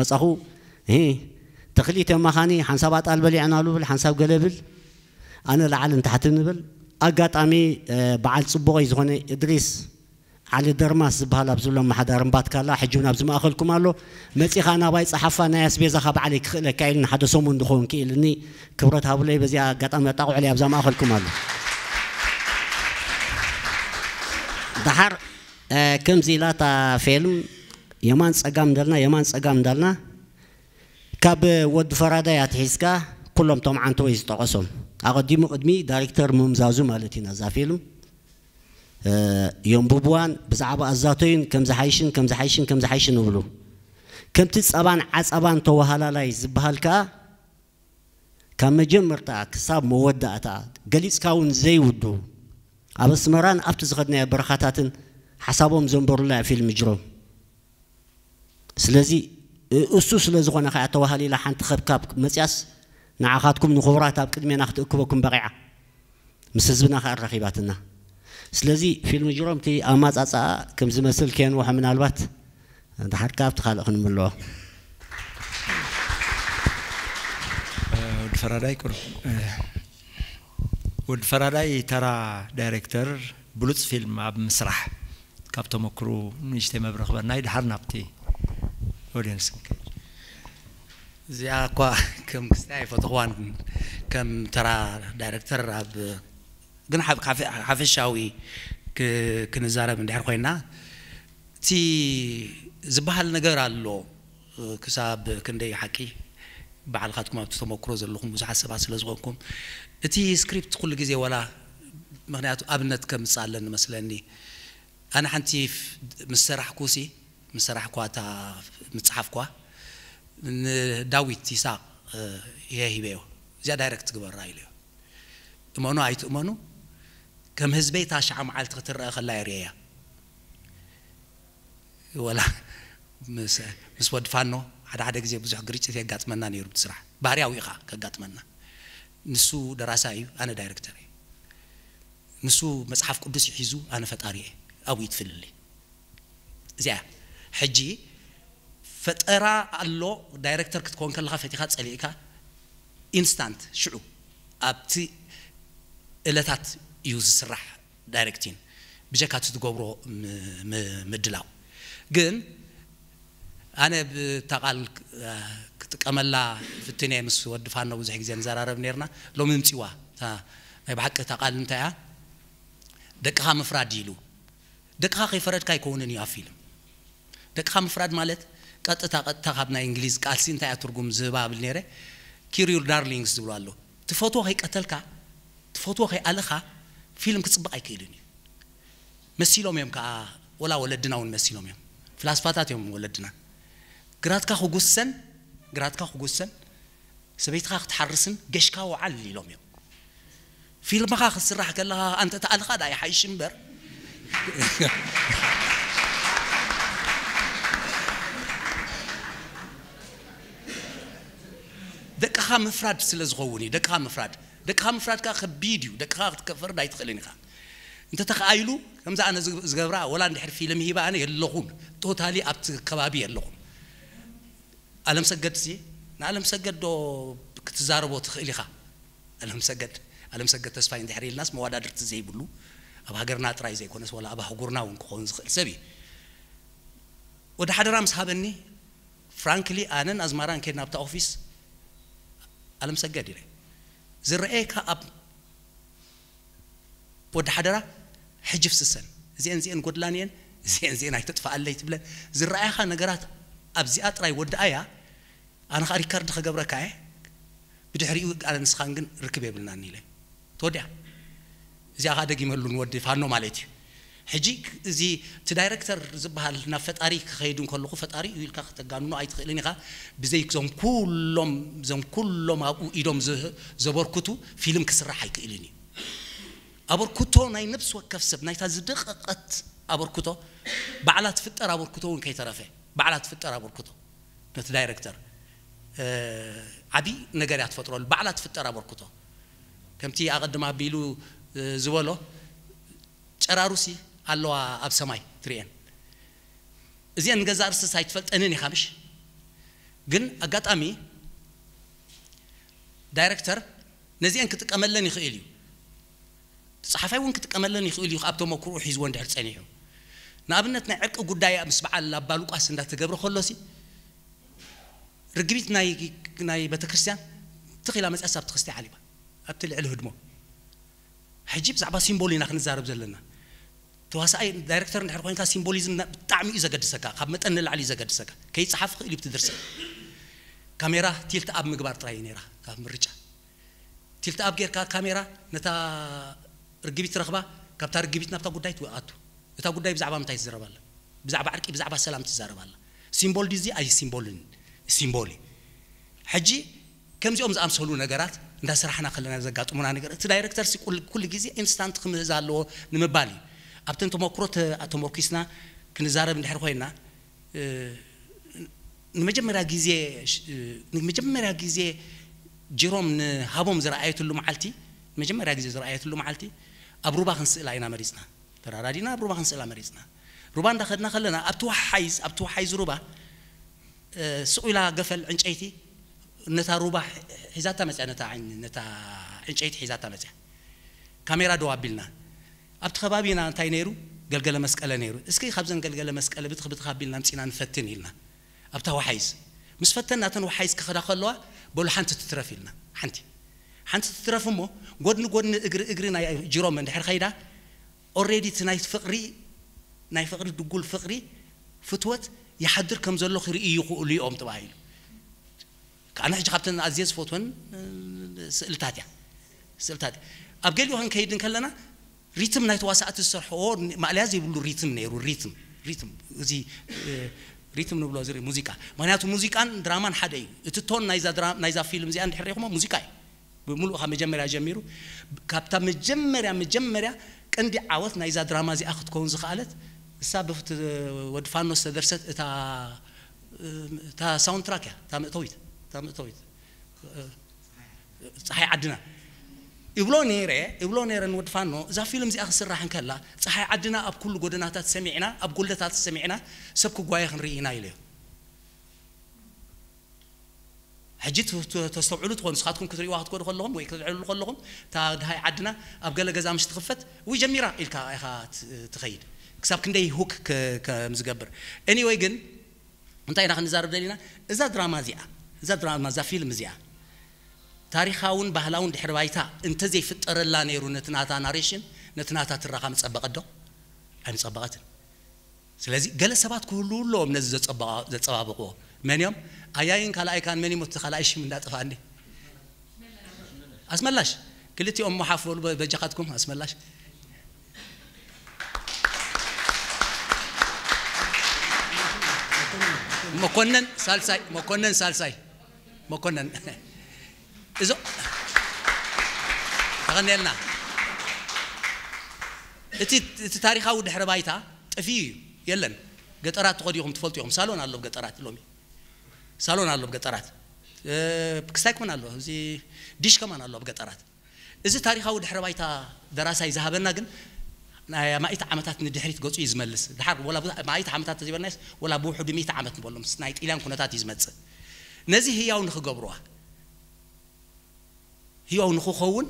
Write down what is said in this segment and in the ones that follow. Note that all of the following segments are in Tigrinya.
መጻኹ። እ፣ ተኽሊት የማኻኒ ሓንሳብ ኣጣል በሊዕናሉ ብል፣ ሓንሳብ ገለ ብል፣ ኣነ ላዕልን ታሕትን ንብል። ኣጋጣሚ፣ እ፣ በዓል ጽቡቐይ ዝኾነ እድሪስ ዓሊ ደርማስ ዝበሃል ኣብዚ ሎ ኣመሓዳሪ እምባትካላ፣ ሕጂ እውን ኣብዚ ማእኸልኩም ኣሎ። መጺኻ ናባይ ጸሓፋ፣ ናይ ኣስቤዛኻ ባዕለይ ክኽእለካ ኢሉኒ፣ ሓደ ሰሙን ዝኸውን ክኢልኒ። ክብረት ሃቡለይ፣ በዚኣ ኣጋጣሚ ኣጣቕዑለይ፣ ኣብዛ ማእኸልኩም ኣሎ። ደሓር፣ እ፣ ከምዚ ኢላ እታ ፌልም የማን ጸጋም እንዳልና፣ የማን ጸጋም እንዳልና፣ ካብ ወዲ ፈራዳይ ኣትሒዝካ ኩሎም ቶም ዓንተወይ ዝጠቐሶም፣ ኣቐዲሙ ቅድሚ ዳይሬክተር ምምዛዙ ማለት ኢና። እዛ ፊልም፣ እ፣ የንብብዋን ብዛዕባ ኣዛተዩን ከም ዝሓይሽን ከም ዝሓይሽን ከም ዝሓይሽን ይብሉ። ከምቲ ጸባን ዓጸባን ተወሃላላይ ዝበሃል ከኣ፣ ካብ መጀመርታ ክሳብ መወዳእታ ገሊጽካ እውን ዘይውዱ፣ ኣብ ኣስመራን ኣብቲ ዝኸድናዮ በረኻታትን ሓሳቦም ዘንበሩላ እያ ፊልም ጅሮም። ስለዚ፣ እ-፣ እሱ ስለ ዝኾነ ከኣ ተዋሃሊላ ሓንቲ ከብካብ መጽያስ፣ ንዓኻትኩም ንኽቡራት ኣብ ቅድሜና ክትእክበኩም በቒዓ። ምስ ህዝብና ከኣ ኣራኺባትና። ስለዚ፣ ፊልም ጅሮም እቲ ኣማጻጽኣ ከም ዝመስል ከየንውሖ፣ ምናልባት ድሓር ከኣ ኣብቲ ካልእ ክንምልኦ። ወዲ ፈራዳይ ቁሩብ፣ እ፣ ወዲ ፈራዳይ ተራ ዳይሬክተር፣ ብሉጽ ፊልም ኣብ ምስራሕ፣ ካብ ተመክሩ ንእሽተይ መብርህ ክበናይ፣ ድሓር ናብቲ ኦዲየንስ ክንከይድ። እዚኣ እኳ ከም ክስታይ ኣይፈተኽዋን፣ ከም ተራ ዳይሬክተር ኣብ፣ ግን ሓፈ-፣ ሓፈ-፣ ሓፈሻዊ ክ-፣ ክንዛረብ እንድሕር ኮይና፣ እቲ ዝበሃል ነገር ኣሎ። ክሳብ ክንደይ ሓቂ፣ ባዕልኻትኩም ኣብቲ ተመክሮ ዘለኹም ብዙሓት ሰባት ስለ ዝኾንኩም፣ እቲ ስክሪፕት ኩሉ ግዜ ወላ፣ ምኽንያቱ ኣብነት ከምጽእ ኣለኒ መስለኒ። ኣነ ሓንቲ ፍ-፣ ምስ ሰራሕኩሲ፣ ምስ ሰራሕኳ እታ፣ ምስ ጸሓፍኳ፣ ንዳዊት ይስሐቅ፣ እ፣ እየ ሂበዮ። እዚኣ ዳይረክት ግበራ ኢለዮ። እመኑ ኣይትእመኑ፣ ከም ህዝበይ እታ ሸዓ መዓልቲ ክትረአ ከላ እየ ርእየያ። ወላ ምስ፣ ምስ ወዲ ፋኖ ሓደ ሓደ ግዜ ብዙሕ ግርጭት የጋጥመና ነይሩ ብቲ ስራሕ። ባህርያዊ ኢኻ ከጋጥመና። ንሱ ደራሳይ እዩ፣ ኣነ ዳይረክተር እየ። ንሱ መጽሓፍ ቅዱስ እዩ ሒዙ፣ ኣነ ፈጣሪ እየ። ኣብኡ እዩ እቲ ፍልልይ። እዚኣ ሕጂ ፈጠራ ኣሎ። ዳይረክተር ክትኮን ከለኻ ፈቲኻ ጸሊእካ ኢንስታንት ሽዑ ኣብቲ እለታት እዩ ዝስራሕ ዳይረክቲን ብጀካ እቲ ትገብሮ ም-፣ ም-፣ ምድላው። ግን ኣነ ብታ ቃል ክጥቀመላ ፍትነ ምስ ወዲ ፋኖ ብዙሕ ግዜ ንዘራረብ ነርና። ሎሚ ምጽዋ እታ ናይ ብሓቂ እታ ቃል እንታይ እያ? ደቅኻ ምፍራድ ኢሉ። ደቅኻ ከይፈረድካ ኣይከውንን እዩ ኣብ ፊልም። ደቅኻ ምፍራድ ማለት ቀጥታ፣ ቀጥታ ካብ ናይ እንግሊዝ ቃልሲ እንታይ እያ ትርጉም ዝህባ ብል ነይረ? Kill your darlings ዝብሉ ኣሎ። ትፈትዎ ከይቀተልካ፣ ትፈትዎ ከይኣለኻ ፊልም ክጽብቕ ኣይክእልን እዩ። መሲሎም እዮም ከኣ፣ ወላ ወለድና እውን መሲሎም እዮም። ፍላስፋታት እዮም ወለድና። ግራትካ ክጉሰን፣ ግራትካ ክጉሰን፣ ሰበይትኻ ክትሓርስን ገሽካ ወዓል ኢሎም እዮም። ፊልምኻ ክትስራሕ ከለኻ ኣንተ ተኣልኻ ዳ ይሓይሽ እምበር። ደቅኻ ምፍራድ ስለ ዝኸውን እዩ። ደቅኻ ምፍራድ፣ ደቅኻ ምፍራድ ከኣ ከቢድ እዩ። ደቅኻ ክትከፈርድ ኣይትኽእልን ኢኻ። እንተ ተኻኢሉ ከምዛ ኣነ ዝግ-፣ ዝገብራ፣ ወላ እንድሕር ፊልም ሂባ ኣነ የለኹን። ቶታሊ ኣብቲ ከባቢ የለኹን። ኣለም ሰገድ ሲ፣ ንኣለም ሰገድ ዶ ክትዛረቦ ትኽእል ኢኻ? ኣለም ሰገድ፣ ኣለም ሰገድ ተስፋይ እንድሕር ኢልናስ መዋዳድርቲ ዘይብሉ፣ ኣብ ሃገርና ጥራይ ዘይኮነስ ወላ ኣብ ኣህጉርና እውን ክኸውን ዝኽእል ሰብ እዩ። ወዲ ሓደራ ምስ ሃበኒ፣ ፍራንክሊ ኣነን ኣዝማራን ከድና ኣብታ ኦፊስ፣ ኣለም ሰገድ ኢለ፣ ዝረኣየካ ኣብ ወዲ ሓደራ፣ ሕጂ ፍስሰን፣ እዚአን እዚአን ጎድላን እየን፣ እዚአን እዚአን ኣይተጥፍኣለይ ትብለን፣ ዝረኣያኻ ነገራት ኣብዚኣ ጥራይ ወድኣያ፣ ኣነ ኸኣ ሪከርድ ኸገብረካ እየ፣ ብድሕሪኡ ኣነ ንስኻን ግን ርክብ የብልናን ኢለ። ተወዲኣ። እዚኣ ኸኣ ደጊመሉ ንወዲ ፋኖ ማለት እዩ። ሕጂ እዚ እቲ ዳይረክተር ዝበሃል ናብ ፈጣሪ ክኸይድ እንከለኹ፣ ፈጣሪ እዩ ኢልካ ከተጋንኖ ኣይትኽእልን ኢኻ። ብዘይ እዞም ኩሎም፣ እዞም ኩሎም ኣብኡ ኢዶም ዘ-፣ ዘበርክቱ ፊልም ክስራሕ ኣይክእልን እዩ። ኣበርክቶ ናይ ነፍሲ ወከፍ ሰብ፣ ናይታ ዝደቐቐት ኣበርክቶ፣ ባዕላ ትፍጠር ኣበርክቶ እውን ከይተረፈ፣ ባዕላ ትፍጠር ኣበርክቶ ነቲ ዳይረክተር፣ እ፣ ዓቢ ነገር እያ ትፈጥረሉ። ባዕላ ትፍጠር ኣበርክቶ። ከምቲ ኣቐድም ኣቢሉ፣ እ፣ ዝበሎ፣ ጨራሩሲ ኣለዋ ኣብ ሰማይ ትርእየን። እዚአን ንገዛእ ርእስስ ኣይትፈልጠንን ኢኻ ምሽ? ግን ኣጋጣሚ ዳይረክተር ነዚአን ክጥቀመለን ይኽእል እዩ። ጸሓፋይ እውን ክጥቀመለን ይኽእል እዩ፣ ኣብ ተመክሮኡ ሒዝዎ እንድሕር ጸኒሑ። ንኣብነት ናይ ዕርቂ ጉዳይ ምስ በዓል ኣባ ሉቃስ እንዳተገብረ ከሎሲ ርግቢት ናይ ናይ ቤተክርስትያን ትኺላ መጽያስ ኣብቲ ክስቲ ዓሊባ ኣብቲ ልዕሊ ህድሞ። ሕጂ ብዛዕባ ሲምቦል ኢና ክንዛረብ ዘለና። ተዋሳኣይ ዳይረክተር እንድሕር ኮይንካ ሲምቦሊዝም ና- ብጣዕሚ እዩ ዘገድሰካ፣ ካብ መጠን ንላዕሊ እዩ ዘገድሰካ። ከይጸሓፍ ክእል እዩ ብቲ ድርሰት። ካሜራ ቲልት ኣብ ምግባር ጥራይ እዩ ነይራ ኣብ ምርጫ። ቲልት ኣብ ጌርካ ካሜራ ነታ ርግቢት ትረኽባ፣ ካብታ ርግቢት ናብታ ጉዳይ ትኣቱ። እታ ጉዳይ ብዛዕባ ምንታይ ትዛረብ ኣላ? ብዛዕባ ዕርቂ፣ ብዛዕባ ሰላም ትዛረብ ኣላ። ሲምቦል ድዚ ኣይ ሲምቦልን? ሲምቦል እዩ። ሕጂ ከምዚኦም ዝኣምሰሉ ነገራት እንዳሰራሕና ከለና ዘጋጥሙና ነገር፣ እቲ ዳይረክተር ሲ ኩል- ኩሉ ግዜ ኢንስታንት ክምህዝ ኣለዎ ንምባል እዩ። ኣብተን ተመክሮ ተ- ተመርኪስና ክንዛረብ እንድሕር ኮይና፣ እ፣ ንመጀመርያ ግዜ ሽ- እ፣ ንመጀመርያ ግዜ ጅሮም ንሃቦም ዝረኣየትሉ መዓልቲ፣ መጀመርያ ግዜ ዝረኣየትሉ መዓልቲ ኣብ ሩባ ክንስእላ ኢና መሪጽና። ተራዳዲና ኣብ ሩባ ክንስእላ መሪጽና። ሩባ እንዳኸድና ከለና ኣብቲ ወሓይዝ ኣብቲ ወሓይዝ ሩባ እ፣ ስቕ ኢላ ገፈል ዕንጨይቲ ነታ ሩባ ሒ- ሒዛታ መጽያ፣ ነታ ዕን- ነታ ዕንጨይቲ ሒዛታ መጽያ። ካሜራ ደው ኣቢልና። ኣብቲ ከባቢና እንታይ ነይሩ? ገልገለ መስቀለ ነይሩ። እስኪ ካብዘን ገልገለ መስቀለ ብትኽ ብትኽ ኣቢልና ኣምጺና ንፈትን ኢልና። ኣብታ ወሓይዝ ምስ ፈተና እተን ወሓይዝ ክኸዳ ከለዋ በሉ ሓንቲ ትትረፍ ኢልና። ሓንቲ ሓንቲ ትትረፍ እሞ ጎድኒ ጎድኒ እግሪ እግሪ ናይ ጅሮም እንድሕር ኸይዳ ኦሬዲ እቲ ናይ ፍቕሪ ናይ ፍቕሪ ድጉል ፍቕሪ ፍትወት ይሓድር ከም ዘሎ ክርእዩ ይኽእሉ እዮም ተባሂሉ። ኣነ ሕጂ ካብተን ኣዝየ ዝፈትወን ስእልታት እያ። ስእልታት እያ። ኣብ ገሊኡ ክንከይድ እንከለና ሪትም ናይ ተዋሳእቲ ዝሰርሕዎ ማእለያ ዘይብሉ ሪትም ነይሩ። ሪትም ሪትም እዚ እ፣ ሪትም ንብሎ እዚ ሙዚቃ። ምክንያቱ ሙዚቃን ድራማን ሓደ እዩ። እቲ ቶን ናይዛ ድራ- ናይዛ ፊልም እዚኣ እንድሕር ሪኹሞ ሙዚቃ እዩ። ብምሉእ ካብ መጀመርያ ጀሚሩ ካብታ መጀመርያ መጀመርያ ቀንዲ ዓወት ናይዛ ድራማ እዚኣ ክትከውን ዝኸኣለት እሳ ብፍት ወዲ ፋኖ ዝተደርሰት እታ እታ ሳውንድ ትራክ እያ። እታ ምእተዊት እታ ምእተዊት እ፣ ፀሓይ ዓድና ይብሎ ነይረ ይብሎ ነይረ ንወዲ ፋኖ። እዛ ፊልም እዚኣ ክስራሕ እንከላ ፀሓይ ዓድና ኣብ ኩሉ ጎደናታት ሰሚዕና ኣብ ጎለታት ሰሚዕና ሰብ ክጓየ ክንርኢ ኢና ኢለዮ። ሕጂ ት- ት- ተስተውዕሉ ትኾኑ ንስኻትኩም ክትሪእዋ ክትኮዱ ከለኹም ወይ ክትዕልሉ ከለኹም እታ ድሃይ ዓድና ኣብ ገለ ገዛ ምሽ ትኽፈት ወይ ጀሚራ ኢልካ ኢኻ ት- ትኸይድ። ክሳብ ክንደይ ሁክ ክ- ከም ዝገብር። Anyway ግን እንታይ ኢና ክንዛረብ ደሊና? እዛ ድራማ እዚኣ እዛ ድራማ እዛ ፊልም እዚኣ ታሪኻውን ባህላውን ድሕሪ ባይታ እንተዘይፍጠረላ ነይሩ ነቲ ናታ ናሬሽን ነቲ ናታ ትረኻ ምጸበቐ ዶ? ኣይምጸበቐትን። ስለዚ ገለ ሰባት ክህልዉ ኣለዎም ነዚ ዘጸባ- ዘጸባብቕዎ። መን እዮም? ኣያይን ካልኣይካን መን እዮም? እቲ ካልኣይ ሽም እንዳጠፋኒ። ኣስመላሽ ክልቲኦም ሞሓፍ በሉ በ- በጃኻትኩም ኣስመላሽ። መኮነን ሳልሳይ መኮነን ሳልሳይ መኮነን እዞ ተቐኒልና እቲ እቲ ታሪኻዊ ድሕረ ባይታ ጠፊኡ እዩ። የለን። ገጠራት ተኸዲኹም ትፈልጡ ኢኹም። ሳሎን ኣሎ ኣብ ገጠራት ሎሚ ሳሎን ኣሎ ኣብ ገጠራት። ክስታይ ከማን ኣሎ። እዚ ዲሽ ከማን ኣሎ ኣብ ገጠራት። እዚ ታሪኻዊ ድሕረ ባይታ ደራሳይ ዝሃበና ግን ናይ ኣማኢት ዓመታት ንድሕሪት ገጹ እዩ ዝመልስ። ድሓር ወላ ብዙሕ ኣማኢት ዓመታት ተዘይበልናስ ወላ ብውሕዱ ሚእቲ ዓመት ንበሎም ናይ ጥልያን ኩነታት እዩ ዝመጽእ። ነዚ ህያው ንኽገብሩዋ ህያው ንኽኸውን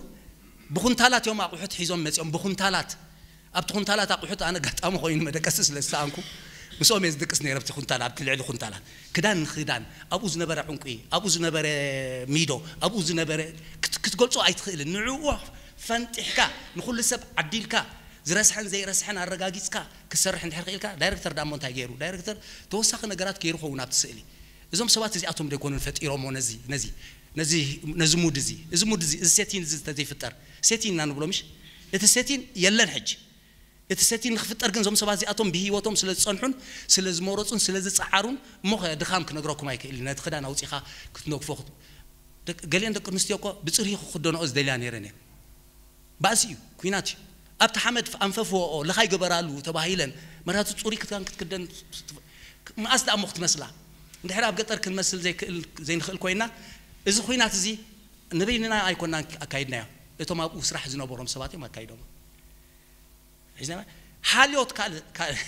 ብኹንታላት እዮም ኣቑሑት ሒዞም መጺኦም። ብኹንታላት ኣብቲ ኩንታላት ኣቑሑት ኣነ ኣጋጣሚ ኮይኑ መደቀሲ ስለ ዝሰኣንኩ ምስኦም እየ ዝድቅስ ነይረ። ኣብቲ ኩንታላ ኣብቲ ልዕሊ ኩንታላት ክዳን ንክዳን ኣብኡ ዝነበረ ዕንቁ ኣብኡ ዝነበረ ሚዶ ኣብኡ ዝነበረ ክት- ክትገልጾ ኣይትኽእልን። ንዕኡ ፈንጢሕካ ንኹሉ ሰብ ዓዲልካ ዝረስሐን ዘይረስሐን ኣረጋጊጽካ ክሰርሕ እንድሕር ክኢልካ ዳይረክተር ዳሞ እንታይ ገይሩ? ዳይረክተር ተወሳኺ ነገራት ገይሩ ኸውን ኣብቲ ስእሊ። እዞም ሰባት እዚኣቶም ዶ ኣይኮኑን ፈጢሮሞ ነዚ ነዚ ነዚ ነዚ ሙድ እዚ እዚ ሙድ እዚ እዚ ሴቲን እዚ ተዘይፍጠር ሴቲን ኢና ንብሎ ምሽ እቲ ሴቲን የለን ሕጂ። እቲ ሴቲን ንክፍጠር ግን እዞም ሰባት እዚኣቶም ብህይወቶም ስለ ዝፀንሑን ስለ ዝመረፁን ስለ ዝፀዓሩን እሞ ኸ ድኻም ክነግረኩም ኣይክእልን። ነቲ ክዳን ኣውፂኻ ክትነግፎ ክት- ደቂ- ገሊአን ደቂ ኣንስትዮ እኮ ብፅርሂ ክክደንኦ ዝደልያ ነይረን እየን። ባእሲ እዩ፣ ኩናት እዩ። ኣብቲ ሓመድ ኣንፈፍወኦ ለኻይ ግበራሉ ተባሂለን መራቱ ፅሩይ ክዳን ክትክደን መኣስ ደኣ እሞ ክትመስላ። እንድሕር ኣብ ገጠር ክንመስል ዘይክእል ዘይንኽእል ኮይና እዚ ኩናት እዚ ንበይንና ኣይኮናን ኣካይድናዮ። እቶም ኣብኡ ስራሕ ዝነበሮም ሰባት እዮም ኣካይዶሞ። ሒዝና ሓልዮት ካልእ ካልእ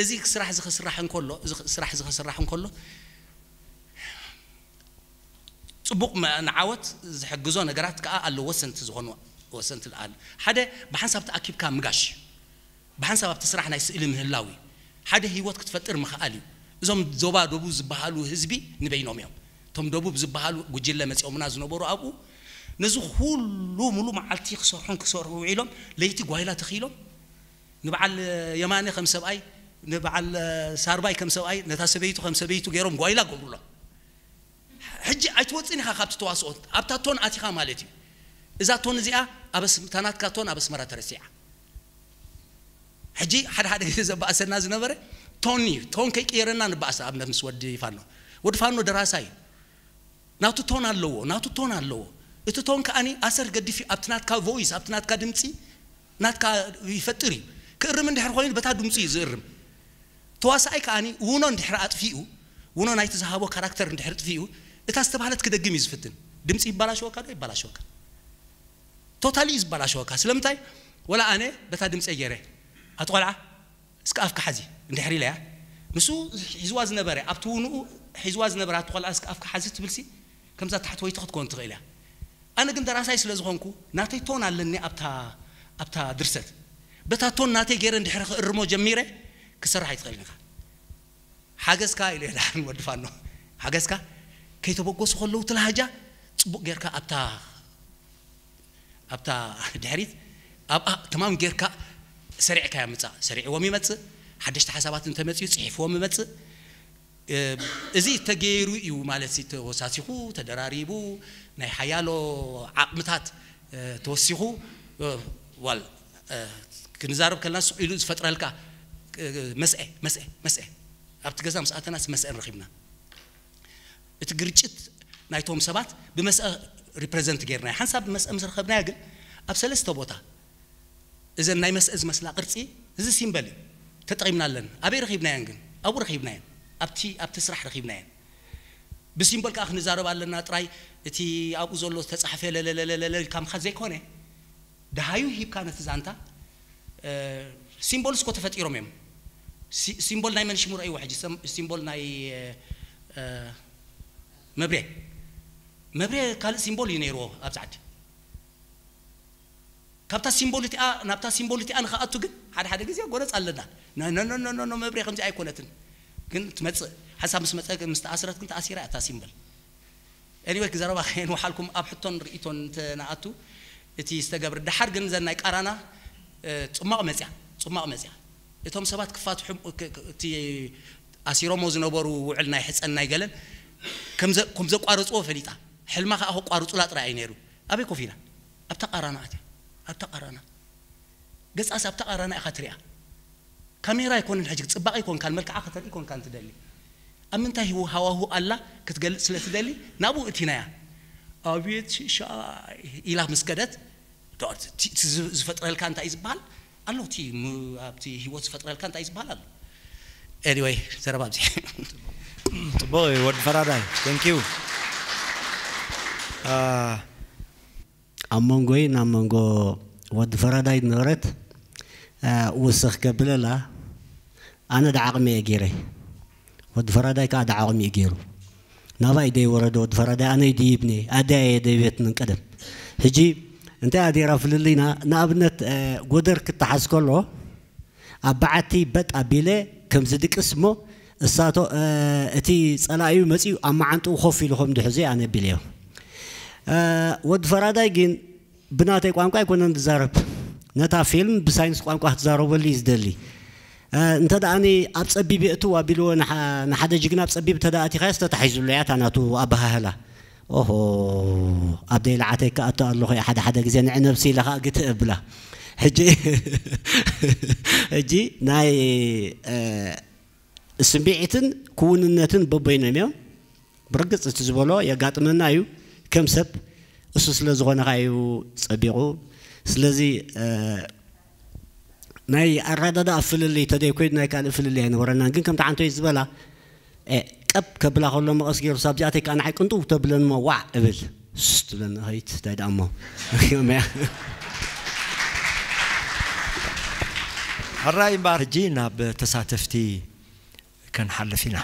እዚ ስራሕ እዚ ክስራሕ እንከሎ እዚ ስራሕ እዚ ክስራሕ እንከሎ ጽቡቕ መ- ንዓወት ዝሕግዞ ነገራት ከኣ ኣሎ። ወሰንቲ ዝኾኑ ወሰንቲ ኣለ። ሓደ፣ ብሓንሳብ ተኣኪብካ ምጋሽ እዩ። ብሓንሳብ ኣብቲ ስራሕ ናይ ስእሊ ምህላው እዩ። ሓደ ህይወት ክትፈጥር ምኽኣል እዩ። እዞም ዞባ ደቡብ ዝበሃሉ ህዝቢ ንበይኖም እዮም። እቶም ደቡብ ዝበሃሉ ጉጅለ መጺኦምና ዝነበሩ ኣብኡ ነዚ ኩሉ ሙሉ መዓልቲ ክሰርሑን ክሰርሑ ውዒሎም፣ ለይቲ ጓይላ ተኺሎም፣ ንበዓል የማነ ከም ሰብኣይ፣ ንበዓል ሳርባይ ከም ሰብኣይ፣ ነታ ሰበይቱ ከም ሰበይቱ ገይሮም ጓይላ ገብሩሎም። ሕጂ ኣይትወፅን ኢኻ ካብቲ ተዋስኦ። ኣብታ ቶን ኣቲኻ ማለት እዩ። እዛ ቶን እዚኣ ኣብ ኣስ- እታ ናትካ ቶን ኣብ ኣስመራ ተረሲዓ። ሕጂ ሓደ ሓደ ግዜ ዘባእሰና ዝነበረ ቶን እዩ። ቶን ከይቀየረና ንባእስ። ኣብነት ምስ ወዲ ፋኖ፣ ወዲ ፋኖ ደራሳይ እዩ። ናቱ ቶን ኣለዎ፣ ናቱ ቶን ኣለዎ። እቲ ቶን ከኣኒ ኣሰር ገዲፍ እዩ። ኣብቲ ናትካ ቮይስ፣ ኣብቲ ናትካ ድምፂ ናትካ ይፈጥር እዩ። ክእርም እንድሕር ኮይኑ በታ ድምፂ እዩ ዝእርም። ተዋሳኣይ ከኣኒ ውኖ እንድሕር ኣጥፊኡ፣ ውኖ ናይቲ ዝሃቦ ካራክተር እንድሕር ጥፊኡ፣ እታ ዝተባህለት ክደግም እዩ ዝፍትን። ድምፂ ይባላሸወካ ዶ ይባላሸወካ? ቶታሊ እዩ ዝበላሸወካ። ስለምንታይ? ወላ ኣነ በታ ድምፀ ገይረ፣ ኣቲ ቆልዓ እስከ ኣፍካ ሓዚ እንድሕር ኢለያ፣ ንሱ ሒዝዋ ዝነበረ፣ ኣብቲ ውንኡ ሒዝዋ ዝነበረ ኣቲ ቆልዓ እስከ ኣፍካ ሓዚ ትብልሲ ከምዛ ታሕተወይቲ ክትኮን ትኽእል እያ። ኣነ ግን ደራሳይ ስለ ዝኾንኩ ናተይ ቶን ኣለኒ ኣብታ ኣብታ ድርሰት። በታ ቶን ናተይ ገይረ እንድሕር ክእርሞ ጀሚረ ክሰርሕ ኣይትኽእልን ኢኻ። ሓገዝካ ኢለ ዳሕን ወዲ ፋኖ ሓገዝካ ከይተበገሱ ከለዉ እቲ ላህጃ ጽቡቕ ጌርካ ኣብታ ኣብታ ድሕሪት ኣብኣ ተማም ጌርካ ሰሪዕካ ምጻእ። ሰሪዕዎም ይመጽእ። ሓደሽቲ ሓሳባት እንተመጽኡ ጽሒፍዎም ይመጽእ። እዚ ተገይሩ እዩ ማለት ሲ ተወሳሲኹ ተደራሪቡ ናይ ሓያሎ ዓቕምታት ተወሲኹ ዋል ክንዛረብ ከለና ስቕ ኢሉ ዝፈጥረልካ መስአ መስአ መስአ ኣብቲ ገዛ ምስ ኣተናስ መስአ ንረኺብና። እቲ ግርጭት ናይቶም ሰባት ብመስአ ሪፕረዘንት ጌርናዮ። ሓንሳብ ብመስአ ምስ ረኸብናዮ ግን ኣብ ሰለስተ ቦታ እዘን ናይ መስአ ዝመስላ ቅርጺ እዚ ሲምበል እዩ ተጠቒምናለን። ኣበይ ረኺብናየን ግን? ኣብኡ ረኺብናየን። ኣብቲ ኣብቲ ስራሕ ረኺብናየን። ብሲምቦል ከኣ ክንዛረብ ኣለና ጥራይ። እቲ ኣብኡ ዘሎ ዝተጻሕፈ ለለለለለለ ኢልካ ምኻድ ዘይኮነ፣ ደሃዩ ሂብካ ነቲ ዛንታ። ሲምቦልስ እኮ ተፈጢሮም እዮም። ሲምቦል ናይ መን ሽሙ ረእይዎ ሕጂ? ሲምቦል ናይ መብሬ። መብሬ ካልእ ሲምቦል እዩ ነይርዎ ኣብዚ ዓዲ። ካብታ ሲምቦል እቲኣ ናብታ ሲምቦል እቲኣ ንኽኣቱ ግን ሓደ ሓደ ግዜ ጎነፅ ኣለና። ኖ ኖ ኖ ኖ ኖ ኖ፣ መብሬ ከምዚ ኣይኮነትን። ግን ትመፅእ ሓንሳብ ምስ መፀ ግን ምስ ተኣስረት ግን ተኣሲራ እያ እታ ሲምበል። ኤኒወይ ዘረባ ከየንውሓልኩም ኣብ ሕቶን ርእይቶን እንተንኣቱ እቲ ዝተገብረ ደሓር ግን ዘን ናይ ቃራና ፅማቕ መፅያ። ፅማቕ መፅያ እቶም ሰባት ክፋትሑ እቲ ኣሲሮሞ ዝነበሩ ውዕል ናይ ሕፀን ናይ ገለን ከም ዘቋረፅዎ ፈሊጣ። ሕልማ ከዓ ከቋርፁላ ጥራይ እዩ ነይሩ። ኣበይ ኮፍ ኢላ ኣብታ ቃራና ኣትያ ኣብታ ቃራና ገጻስ ኣብታ ቃራና ኢኻ ትሪኣ። ካሜራ ኣይኮንን ሕጂ ጽባቐ ኣይኮንካን መልክዓ ከተርኢ ኮንካን ትደሊ። ኣብ ምንታይ ህው ሃዋሁ ኣላ ክትገልጽ ስለ ትደሊ ናብኡ እቲናያ። ኣቤት ሽሻይ ኢላ ምስ ከደት ዶ- እቲ- እቲ ዝ- ዝፈጥረልካ እንታይ እዩ ዝበሃል ኣሎ እቲ ም- ኣብቲ ህይወት ዝፈጥረልካ እንታይ እዩ ዝበሃል ኣሎ። ኤኒወይ ዘረባ ኣብዚ ጽቡቕ እዩ ወዲ ፈራዳይ thank you ኣብ መንጎይ ናብ መንጎ ወዲ ፈራዳይ ዝነበረት ውስኽ ከብለላ ኣነ ዳዓቕሚ እየ ገይረ ወዲ ፈራዳይ ከዓ ዳዓቕሚ እዩ ገይሩ ናባይ ደይ ወረደ ወዲ ፈራዳይ ኣነ ይድይብኒ ኣደያ እየ ደይቤትንን ቀደም ሕጂ እንታይ ኣዴራ ፍልልይና ንኣብነት ጎደር ክተሓዝ ከሎ ኣብ በዓቲ በጥ ኣቢለ ከም ዝድቅስ እሞ እሳቶ እቲ ጸላኢዩ መጺኡ ኣብ መዓንጥኡ ኮፍ ኢሉ ከም ድሕዙ ኣነ ቢለዮ። ወዲ ፈራዳይ ግን ብናተይ ቋንቋ ኣይኮነን ዝዛረብ። ነታ ፊልም ብሳይንስ ቋንቋ ክትዛረበሉ እዩ ዝደሊ። እንተ ደኣኒ ኣብ ጸቢብ የእትው ኣቢልዎ ንሓደ ጅግና ኣብ ጸቢብ እንተ ደኣ ኣቲኻዮስ ተታሒዙሉ እያ እታ ናቱ ኣበሃህላ። ኦሆ ኣብ ደይልዓተይ ክኣቱ ኣለኹ እየ ሓደ ሓደ ግዜ ንዒ ነብሲ ኢለ ከዓ ግትእ እብላ ሕጂ ሕጂ ናይ ስምዒትን ክውንነትን በበይኖም እዮም ብርግፅ እቲ ዝበሎ የጋጥመና እዩ ከም ሰብ እሱ ስለ ዝኾነ ከዓ እዩ ፀቢቑ ስለዚ ናይ ኣረዳድኣ ፍልልይ ተደይ ኮይድ ናይ ካልእ ፍልልይ ኣይነበረናን ግን ከምቲ ዓንቶይ ዝበላ ቀብ ከብላ ከሎ መቐስ ገይሩ ሳብ ዚኣተይ ከዓ ንዓይ ቅንጥው ተብለን እሞ ዋዕ እብል ስ ትብለኒ ኸይት እንታይ ደኣ እሞ ሕራይ እምበኣር ሕጂ ናብ ተሳተፍቲ ከንሓልፍ ኢና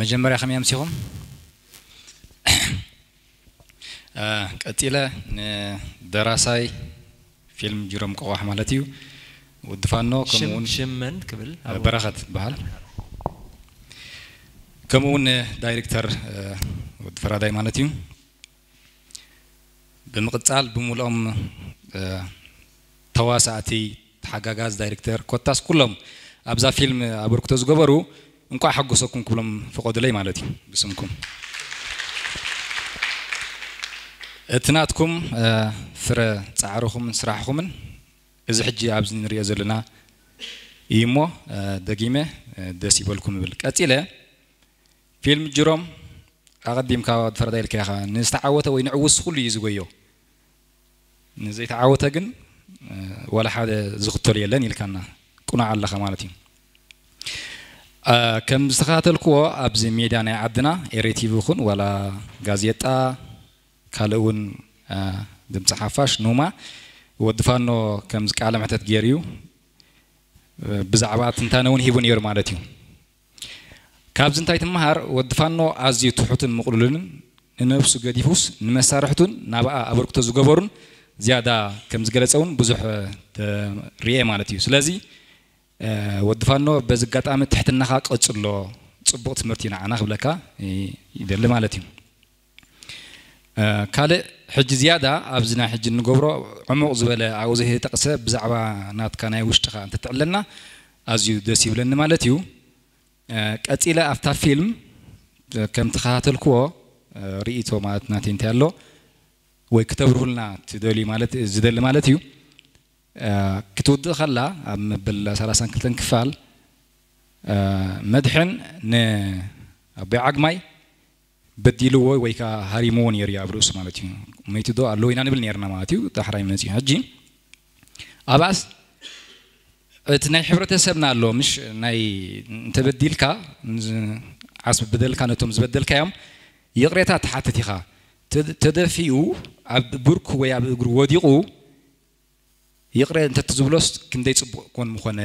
መጀመርያ ከመይ ኣምሲኹም ቀፂለ ንደራሳይ ፊልም ጅሮም ቆቋሕ ማለት እዩ፣ ወዲ ፋኖ፣ ከምኡውን ሽም መን ክብል? በረኸት በሃል። ከምኡውን ዳይሬክተር ወዲ ፈራዳይ ማለት እዩ። ብምቕፃል ብምልኦም ተዋሳእቲ፣ ተሓጋጋዝ ዳይሬክተር፣ ኮታስ ኩሎም ኣብዛ ፊልም ኣበርክቶ ዝገበሩ እንቋዕ ሓጎሰኩም ክብሎም ፍቐዱለይ ማለት እዩ ብስምኩም። እቲ ናትኩም ፍረ ፃዕርኹምን ስራሕኹምን እዚ ሕጂ ኣብዚ ንሪኦ ዘለና እዩ እሞ፣ ደጊመ ደስ ይበልኩም እብል። ቀፂለ ፊልም ጅሮም ኣቐዲምካ ወዲ ፈረዳ ኢልካ ኢኻ፣ ንዝተዓወተ ወይ ንዕውስ ኩሉ እዩ ዝጎዮ፣ ንዘይተዓወተ ግን ዋላ ሓደ ዝኽተሉ የለን ኢልካና ቁኑዕ ኣለኻ ማለት እዩ። ከም ዝተኸታተልክዎ ኣብዚ ሜድያ ናይ ዓድና ኤሪ ቲቪ ይኹን ዋላ ጋዜጣ ካልእ እውን ድምፂ ሓፋሽ ኑማ ወዲ ፋኖ ከምዚ ቃለ መሕተት ገይሩ እዩ፣ ብዛዕባ ትንታነ እውን ሂቡ ነይሩ ማለት እዩ። ካብዚ እንታይ ትመሃር? ወዲ ፋኖ ኣዝዩ ትሑትን ምቕሉልን ንነብሱ ገዲፉስ ንመሳርሕቱን ናብኣ ኣበርክቶ ዝገበሩን ዝያዳ ከም ዝገለጸ እውን ብዙሕ ርኤ ማለት እዩ። ስለዚ ወዲ ፋኖ በዚ ኣጋጣሚ ትሕትናኻ ቀጽሎ፣ ጽቡቕ ትምህርቲ ንዓና ክብለካ ይደሊ ማለት እዩ። ካልእ ሕጂ ዝያዳ ኣብዚ ናይ ሕጂ እንገብሮ ዕሙቕ ዝበለ ኣብኡ ዘይተጠቕሰ ብዛዕባ ናትካ ናይ ውሽጥኻ እንተትዕለና ኣዝዩ ደስ ይብለኒ ማለት እዩ። ቀጺለ ኣብታ ፊልም ከም ተኸታተልክዎ ርእይቶ ማለት ናተይ እንታይ ኣሎ ወይ ክተብርሁልና ትደልዩ ማለት ዝደሊ ማለት እዩ። ክትውድእ ከላ ኣብ መበል ሰላሳን ክልተን ክፋል መድሕን ንኣቦይ ዓግማይ በዲልዎ ወይ ከዓ ሃሪምዎ ነይሩ እዩ ኣብ ርእሱ ማለት እዩ። መይቱ ዶ ኣለዎ ኢና ንብል ነይርና ማለት እዩ። ዳሕራይ መፂኡ ሕጂ ኣብኣስ እቲ ናይ ሕብረተሰብና ኣሎ ምሽ ናይ እንተበዲልካ ዓስቢ በደልካ ነቶም ዝበደልካዮም ይቕሬታ ትሓትት ኢኻ። ተደፊኡ ኣብ ብርኩ ወይ ኣብ እግሩ ወዲቑ ይቕረ እንተትዝብሎስ ክንደይ ጽቡቕ ኮን ምኾነ፣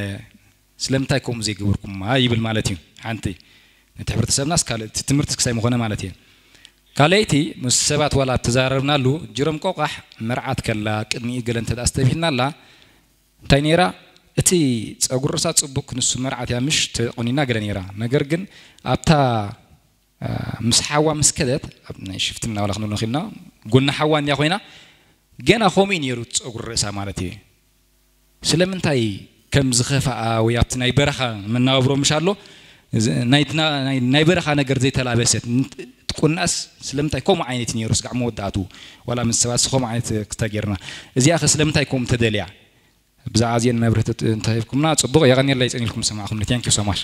ስለምንታይ ከምኡ ዘይገበርኩማ ይብል ማለት እዩ። ሓንቲ ነቲ ሕብረተሰብናስ ካልእ እቲ ትምህርቲ ክሳይ ምኾነ ማለት እዩ። ካልኣይቲ ምስ ሰባት ዋላ ተዛረብናሉ ጅሮም ቆቋሕ መርዓት ከላ ቅድሚኡ ገለ እንተ ኣስተብሂልና ኣላ እንታይ ነይራ እቲ ጸጉሪ ርእሳ ጽቡቅ ክንሱ መርዓት እያ ምሽ ተቆኒና ገለ ነይራ ነገር ግን ኣብታ ምስ ሓዋ ምስ ከደት ኣብ ናይ ሽፍትና ዋላ ክንብሎ ንኽእልና ጎኒ ሓዋ እንድያ ኮይና ገና ከምኡ እዩ ነይሩ ጸጉሪ ርእሳ ማለት እዩ። ስለምንታይ ከም ዝኸፍኣ ወይ ኣብቲ ናይ በረኻ መናብሮ ምሽ ኣሎ ናይ በረኻ ነገር ዘይተላበሰት ትቁናስ ስለምንታይ ከምኡ ዓይነት ነይሩ ስጋዕ መወዳእቱ ዋላ ምስ ሰባት ስኸምኡ ዓይነት ክተጌርና እዚኣ ኸ ስለምንታይ ከምኡ ተደልያ ብዛዕባ እዚአን መብርህቲ እንተሂብኩምና ጽቡቕ። የቐንየለይ ጽን ኢልኩም ዝሰማዕኹምኒ። Thank you so much።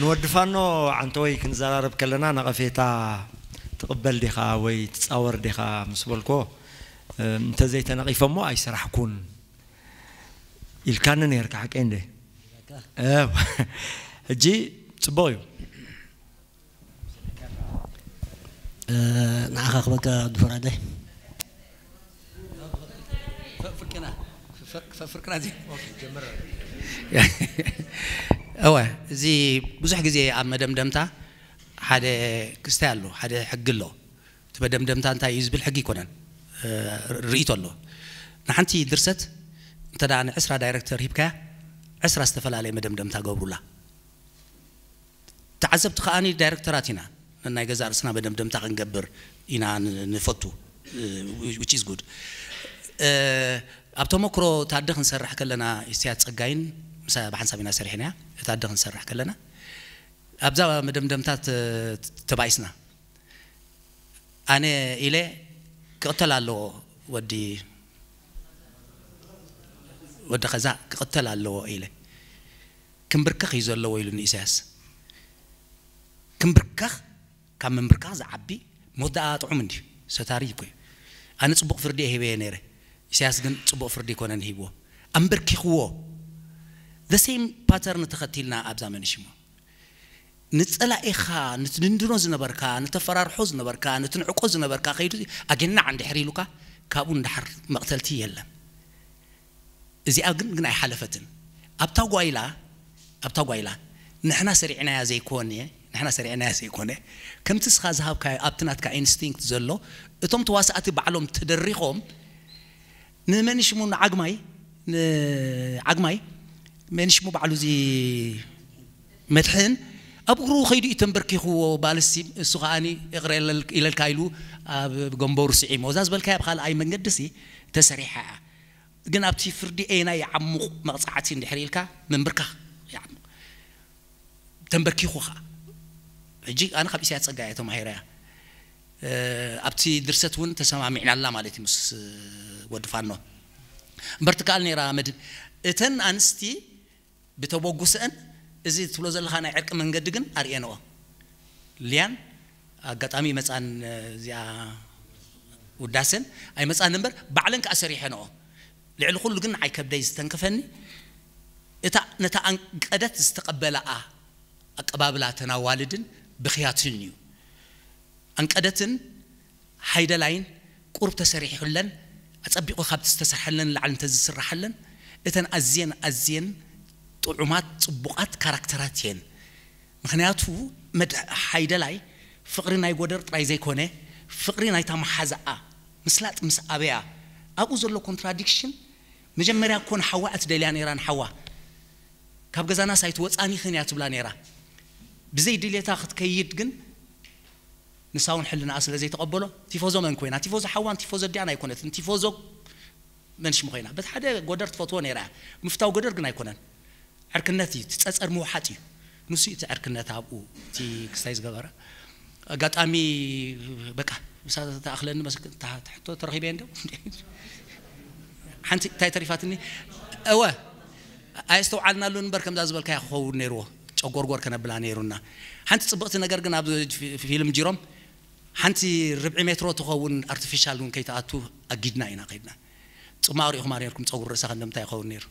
ንወዲ ፋኖ ዓንተወይ ክንዘራረብ ከለና ነቐፌታ ትቕበል ዲኻ ወይ ትጻወር ዲኻ ምስ በልኮ እንተዘይተነቒፈሞ ኣይሰራሕኩን ኢልካኒ ነርካ ሓቀይ እንደ ሕጂ ጽቡቕ እዩ። ንዓኻ ክበካ ወዲ ፈራዳይ። እወ እዚ ብዙሕ ግዜ ኣብ መደምደምታ ሓደ ክስታይ ኣሎ፣ ሓደ ሕጊ ኣሎ። እቲ መደምደምታ እንታይ እዩ ዝብል ሕጊ ኣይኮነን፣ ርእይቶ ኣሎ። ንሓንቲ ድርሰት እንተ ንዕስራ ዳይረክተር ሂብካያ ዕስራ ዝተፈላለየ መደምደምታ ገብሩላ። ተዓዘብቲ ከኣ ዳይረክተራት ኢና፣ ነናይ ገዛእ ርእስና መደምደምታ ክንገብር ኢና ንፈቱ። Which is good። ኣብ ተመክሮ ታደ ክንሰርሕ ከለና ኢሳያስ ጸጋይን ምሳይ ብሓንሳብ ኢና ሰሪሕናያ። ታደ ክንሰርሕ ከለና ኣብዛ መደምደምታ ተባኢስና። ኣነ ኢለ ክቕተል ኣለዎ ወዲ ወዲ ኸዛ ክቕተል ኣለዎ ኢለ። ክምብርከኽ እዩ ዘለዎ ኢሉኒ ኢሳያስ። ክምብርከኽ ካብ ምምብርካኽ ዝዓቢ ሞት ደኣ ጥዑም እንድዩ። ሰታሪ እኮ እዩ። ኣነ ጽቡቕ ፍርዲ እየ ሂበዮ ነይረ። ኢሳያስ ግን ጽቡቕ ፍርዲ ኣይኮነን ሂብዎ። ኣምበርኪኽዎ። The same pattern ተኸቲልና ኣብዛ መንሽሞ። ንጸላኢኻ፣ ንትድንድኖ ዝነበርካ፣ ንተፈራርሖ ዝነበርካ፣ ንትንዕቆ ዝነበርካ ከይዱ ኣገናዕ እንድሕር ኢሉካ ካብኡ ንደሓር መቕተልቲ የለን። እዚኣ ግን ግን ኣይሓለፈትን። ኣብታ ጓይላ ኣብታ ጓይላ ንሕና ሰሪዕናያ ዘይኮነ ንሕና ሰሪዕናያ ዘይኮነ፣ ከምቲ እስኻ ዝሃብካዮ ኣብቲ ናትካ ኢንስቲንክት ዘሎ፣ እቶም ተዋሳእቲ ባዕሎም ተደሪኾም ንመን ሽሙ ንዓግማይ፣ ንዓግማይ መን ሽሙ ባዕሉ እዚ መድሕን ኣብ እግሩ ከይዱ እዩ ተንበርኪኽዎ። ባልሲ እሱ ከዓኒ ይቕረ ኢለልካ ኢሉ ኣብ ገንበሩ ስዒሞ። እዛ ዝበልካያ ብኻልኣይ መንገዲ ሲ ተሰሪሓ እያ። ግን ኣብቲ ፍርዲ ኤና ይዓሙቕ መቕጻዕቲ እንድሕር ኢልካ ምንብርካኽ ይዓሙቕ። ተንበርኪኹ ኸዓ ሕጂ ኣነ ካብ ኢሳያስ ጸጋ እየ ተማሂረያ። ኣብቲ ድርሰት እውን ተሰማሚዕናላ ማለት እዩ ምስ ወዲ ፋኖ። እምበር ትከኣል ነይራ መድን። እተን ኣንስቲ ብተበጉሰአን እዚ ትብሎ ዘለኻ ናይ ዕርቂ መንገዲ ግን ኣርእየንኦ። ሊያን ኣጋጣሚ መጻን እዚኣ ውዳሰን ኣይመጻን እምበር ባዕለን ከዓ ሰሪሐንኦ። ልዕሊ ኩሉ ግን ንዓይ ከብደይ ዝተንከፈኒ እታ ነታ ኣንቀደት ዝተቐበላኣ ኣቀባብላ ተናዋልድን ብኽያትን እዩ። ኣንቀደትን ሓይደላይን ቁሩብ ተሰሪሑለን ኣጸቢቑ ካብ ዝተሰርሐለን ንላዕሊ እንተዝስራሐለን እተን ኣዝየን ኣዝየን ጥዑማት ጽቡቓት ካራክተራት እየን። ምኽንያቱ መድ ሓይደላይ ፍቕሪ ናይ ጎደር ጥራይ ዘይኮነ ፍቕሪ ናይታ መሓዛኣ ምስላጥ ምስ ኣበያ ኣብኡ ዘሎ ኮንትራዲክሽን። መጀመርያ እኮ ንሓዋ እትደልያ ነይራ፣ ንሓዋ ካብ ገዛናስ ኣይትወጻኒኽን እያ ትብላ ነይራ። ብዘይ ድሌታ ክትከይድ ግን ንሳ እውን ሕልናኣ ስለ ዘይተቐበሎ ቲፎዞ መን ኮይና? ቲፎዞ ሓዋን ቲፎዞ ኣዲኣን ኣይኮነትን። ቲፎዞ መን ሽሙ ኮይና? በቲ ሓደ ጎደር ትፈትዎ ነይራ እያ። ምፍታው ጎደር ግን ኣይኮነን። ዕርክነት እዩ፣ እቲ ጸጸር ምውሓጥ እዩ። ንሱ እቲ ዕርክነት ኣብኡ እቲ ክስታይ ዝገበረ ኣጋጣሚ በቃ ምሳ ተኣኽለኒ መስክ- ታ- ትሕቶ ተረኺበ እንዶ ሓንቲ እንታይ ተሪፋትኒ? እወ ኣየስተውዓልናሉን እምበር ከምዛ ዝበልካያ ክኸውን ነይርዎ። ጨጎርጎር ከነብላ ነይሩና። ሓንቲ ጽብቕቲ ነገር ግን ኣብ ፊ- ፊልም ጂሮም ሓንቲ ርብዒ ሜትሮ ትኸውን ኣርቲፊሻል እውን ከይተኣቱ ኣጊድና ኢና ከይድና። ጽማቕ ሪኢኹማ ነይርኩም ጸጉሪ ርእሳ ክንደምታይ ይኸውን ነይሩ።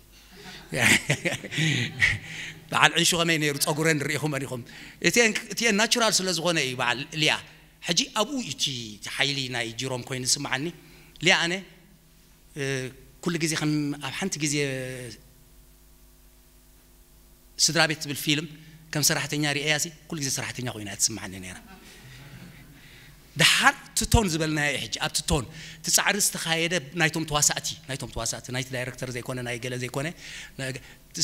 በዓል ዕንሹ ከመይ ነይሩ ጸጉረን ርኢኹመን ኢኹም። እቲኤን እቲኤን ናቹራል ስለ ዝኾነ እዩ በዓል ልያ። ሕጂ ኣብኡ እዩ እቲ እቲ ሓይሊ ናይ ጂሮም ኮይኑ ዝስምዓኒ። ልያ ኣነ ኩሉ ግዜ ከም ኣብ ሓንቲ ግዜ ስድራ ቤት ትብል ፊልም ከም ሰራሕተኛ ርእያ ሲ ኩሉ ግዜ ሰራሕተኛ ኮይና እያ ትስምዓኒ ነይራ። ድሓር ትቶን ዝበልናዮ እዩ ሕጂ ኣብቲ ቶን እቲ ጻዕሪ ዝተኻየደ ናይቶም ተዋሳእቲ ናይቶም ተዋሳእቲ ናይቲ ዳይረክተር ዘይኮነ ናይ ገለ ዘይኮነ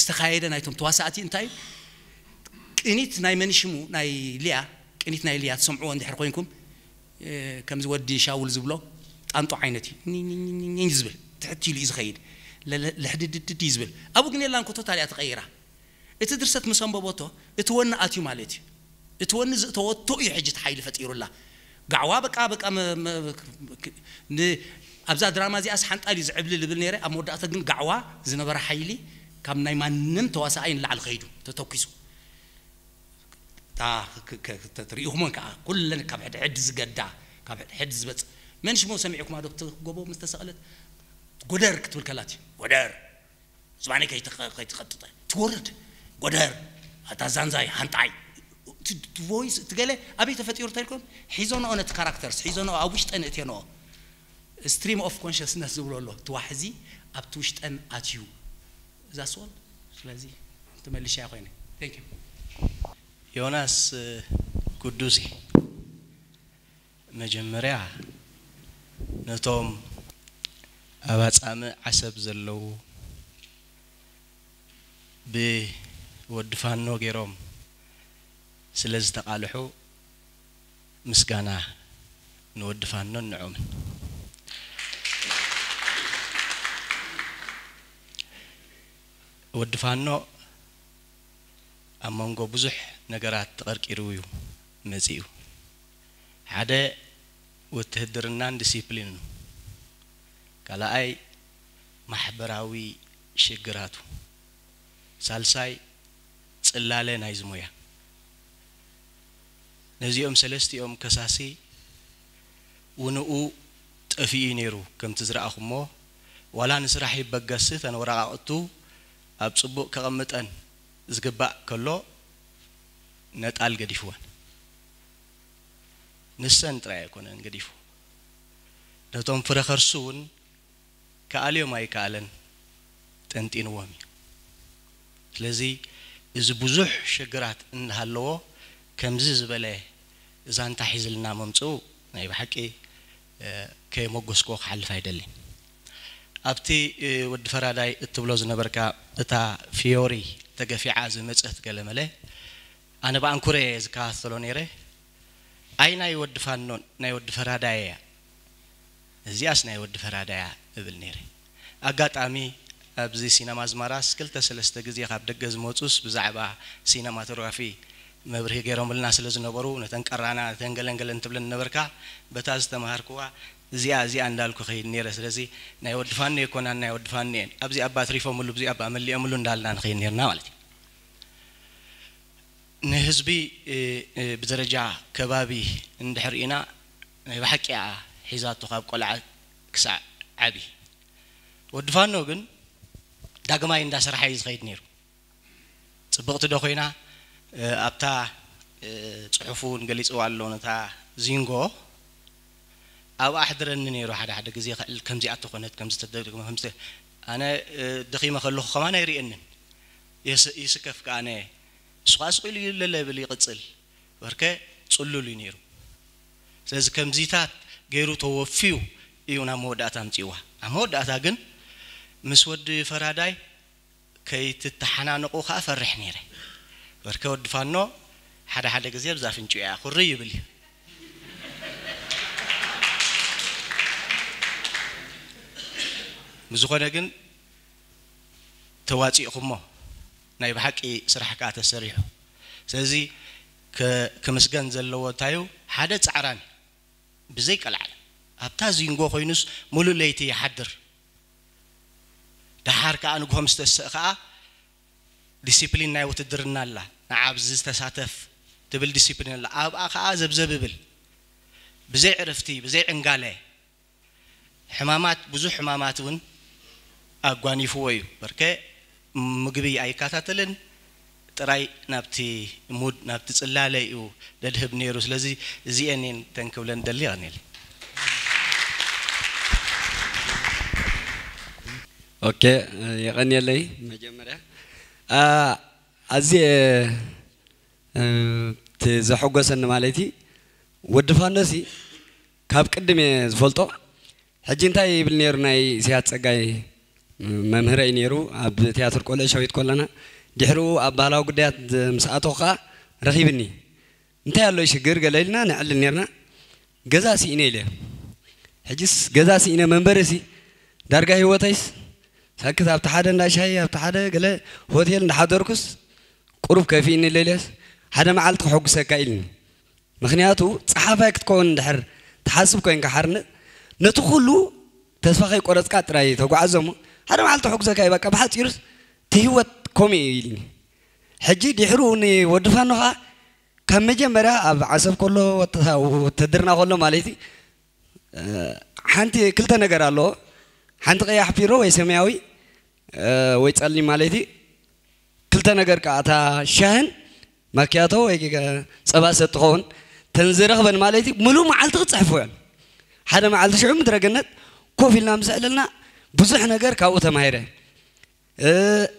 ዝተኻየደ ናይቶም ተዋሳእቲ እንታይ እዩ ቅኒት ናይ መን ሽሙ ናይ ሊያ ቅኒት ናይ ሊያ ትሰምዕዎ እንድሕር ኮይንኩም ከምዚ ወዲ ሻውል ዝብሎ ጣንጦ ዓይነት እዩ ዝብል ትሕት ኢሉ እዩ ዝኸይድ ልሕድድድድ እዩ ዝብል ኣብኡ ግን የላን ኮቶታል እያ ተቐይራ እቲ ድርሰት ምስ ኣንበበቶ እቲ ወኒ ኣትዩ ማለት እዩ እቲ ወኒ ዝእተወቶ እዩ ሕጂ እቲ ሓይሊ ፈጢሩላ ጋዕዋ በቃ በቃ ኣብዛ ድራማ እዚኣስ ሓንጣል እዩ ዝዕብሊ ልብል ነይረ ኣብ መወዳእታ ግን ጋዕዋ ዝነበረ ሓይሊ ካብ ናይ ማንም ተዋሳኣይ ንላዕሊ ከይዱ ተተኪሱ ሪኢኹሞን ከዓ ኩለን ካብ ሕድሕድ ዝገዳ ካብ ሕድሕድ ዝበፅ መን ሽሞ ሰሚዕኩም ኣዶ ጎቦ ምስ ተሰቕለት ጎደር ክትብል ከላት እዩ ጎደር ዝባኒ ከይትቐጥጠ ትወርድ ጎደር ኣታ ዛንዛይ ሃንጣይ ቮይስ እቲ ገለ ኣበይ ተፈጢሩ ተልኩም ሒዞንኦ ነቲ ካራክተርስ ሒዞንኦ ኣብ ውሽጠን እትዮንኦ ስትሪም ኦፍ ኮንሽስነስ ዝብሎ ኣሎ እቲ ዋሕዚ ኣብቲ ውሽጠን ኣትዩ እዛ ስወል ስለዚ ተመልሻ ኮይነ ዮናስ ጉዱሲ መጀመርያ ነቶም ኣብ ኣጻምእ ዓሰብ ዘለዉ ብወዲ ፋኖ ገይሮም ስለ ዝተቓልሑ ምስጋና ንወዲ ፋኖን ንዖምን። ወዲ ፋኖ ኣብ መንጎ ብዙሕ ነገራት ተቐርቂሩ እዩ መጺኡ። ሓደ ውትህድርናን ዲሲፕሊንን፣ ካልኣይ ማሕበራዊ ሽግራቱ፣ ሳልሳይ ጽላለ ናይዚ ሞያ። ነዚኦም ሰለስቲኦም ከሳሲ ውንኡ ጠፊኡ እዩ ነይሩ። ከምቲ ዝረኣኹሞ ዋላ ንስራሕ ይበገስ እተን ወረቓቕቱ ኣብ ጽቡቕ ከቐምጠን ዝግባእ ከሎ ነጣል ገዲፍወን። ንሰን ጥራይ ኣይኮነን ገዲፉ፣ ነቶም ፍረ ከርሱ እውን ከኣልዮም ኣይከኣለን ጠንጢንዎም እዩ። ስለዚ እዚ ብዙሕ ሽግራት እናሃለዎ ከምዚ ዝበለ ዛንታ ሒዝልና ምምፅኡ ናይ ብሓቂ ከየመጎስክዎ ክሓልፍ ኣይደልን። ኣብቲ ወዲ ፈራዳይ እትብሎ ዝነበርካ እታ ፊዮሪ ተገፊዓ ዝመፀት ገለመለ ኣነ ብኣንኩረ እየ ዝከታተሎ ነይረ። ኣይ ናይ ወዲ ፋኖን ናይ ወዲ ፈራዳይ እያ፣ እዚኣስ ናይ ወዲ ፈራዳይ እያ እብል ነይረ። ኣጋጣሚ ኣብዚ ሲነማ ኣዝማራስ ክልተ ሰለስተ ግዜ ካብ ደገ ዝመፁስ ብዛዕባ ሲነማቶግራፊ መብርሂ ገይሮምልና ስለ ዝነበሩ ነተን ቀራና ነተን ገለንገለን ትብለን ነበርካ። በታ ዝተምሃርክዋ እዚኣ እዚኣ እንዳልኩ ከይድ ነይረ። ስለዚ ናይ ወዲ ፋኖ ኣይኮናን ናይ ወዲ ፋኖ እየን። ኣብዚ ኣባ ኣትሪፎምሉ ኣብዚ ኣባ መሊኦምሉ እንዳልና ንኸይድ ነርና ማለት እዩ። ንህዝቢ ብደረጃ ከባቢ እንድሕር ኢና ናይ ብሓቂ እያ ሒዛቶ ካብ ቆልዓ ክሳዕ ዓቢ። ወዲ ፋኖ ግን ዳግማይ እንዳሰረሓ እዩ ዝኸይድ ነይሩ። ፅብቕቲ ዶ ኮይና ኣብታ ፅሑፉ እውን ገሊፅዋ ኣሎ ነታ ዚንጎ ኣብኣ ኣሕድረኒ ነይሩ። ሓደ ሓደ ግዜ ክዕል ከምዚኣ ተኾነት ከምዚ ተደግመ ከምዚ ኣነ ደኺመ ከለኹ ከማን ኣይርእየንን። ይስከፍ ከኣነ እሱ ከዓ ስቕ ኢሉ ይለለ ብል ይቕፅል። በርከ ፅሉል እዩ ነይሩ። ስለዚ ከምዚታት ገይሩ ተወፍዩ እዩ ናብ መወዳእታ ኣምፅእዋ። ኣብ መወዳእታ ግን ምስ ወዲ ፈራዳይ ከይትተሓናነቑ ከዓ ፈርሕ ነይረ። በርከ ወዲ ፋኖ ሓደ ሓደ ግዜ ብዛ ፍንጭ እያ ኩሪ ይብል እዩ። ብዝኾነ ግን ተዋፂእኹሞ ናይ ብሓቂ ስራሕ ከዓ ተሰሪሑ። ስለዚ ክምስገን ዘለዎ እንታዩ ሓደ ፃዕራም እዩ። ብዘይ ቀልዓለም ኣብታ ዚንጎ ኮይኑስ ሙሉእ ለይቲ ይሓድር። ደሓር ከዓ ንግሆ ምስ ተስእ ከዓ ዲሲፕሊን ናይ ውትድርና ኣላ ንዓ ኣብዚ ዝተሳተፍ ትብል ዲሲፕሊን ኣላ ኣብኣ ከዓ ዘብዘብ ይብል። ብዘይ ዕረፍቲ ብዘይ ዕንጋለ ሕማማት ብዙሕ ሕማማት እውን ኣጓኒፍዎ እዩ። በርከ ምግቢ ኣይከታተልን ጥራይ ናብቲ ሙድ ናብቲ ፅላለ እዩ ደድህብ ነይሩ። ስለዚ እዚአን እየን ተን ክብለን ደሊ ይቐኒል። ኦኬ የቐንየለይ። መጀመርያ ኣዝየ እቲ ዘሐጎሰኒ ማለት እዩ ወዲ ፋኖሲ ካብ ቅድም እየ ዝፈልጦ። ሕጂ እንታይ ይብል ነይሩ ናይ ኢሳያስ ጸጋይ መምህረይ ነይሩ ኣብ ትያትር ቆልዑ ሸዊት ኮለና ድሕሪኡ ኣብ ባህላዊ ጉዳያት ምስ ኣተኹ ከዓ ረኺብኒ። እንታይ ኣሎ ሽግር ገለ ኢልና ነዕልል ነርና። ገዛ ስኢነ ኢለ ሕጅስ ገዛ ስኢነ መንበሪ ሲ ዳርጋ ህይወተይስ ሳክት ኣብቲ ሓደ እንዳ ሻሂ ኣብቲ ሓደ ገለ ሆቴል እንዳሓደርኩስ ቁሩብ ከፊእኒ ኢለ ኢለስ ሓደ መዓልቲ ከሐጉሰካ ኢልኒ። ምኽንያቱ ጸሓፋይ ክትከውን እንድሕር ትሓስብ ኮይንካ ሓርነት ነቲ ኩሉ ተስፋ ከይቆረጽካ ጥራይ ተጓዓዞ እሞ ሓደ መዓልቲ ከሐጉሰካ እዩ በቃ ብሓጺሩስ እቲ ህይወት ከምኡ እዩ ኢልኒ። ሕጂ ድሕሩ ንወዲ ፋኖ ኸዓ ካብ መጀመርያ ኣብ ዓሰብ ከሎ ወተሃ- ውትድርና ከሎ ማለት እዩ ሓንቲ ክልተ ነገር ኣለዎ። ሓንቲ ቀያሕ ፒሮ ወይ ሰማያዊ ወይ ጸሊም ማለት እዩ። ክልተ ነገር ከኣ እታ ሻህን ማኪያቶ ወይ ጸባ ሰጥ ትኸውን ተን ዝረኽበን ማለት እዩ። ምሉእ መዓልቲ ክጽሕፎ እየን። ሓደ መዓልቲ ሽዑ ምድረ ገነት ኮፍ ኢልና ምስ ኣዕለልና ብዙሕ ነገር ካብኡ ተማሂረ።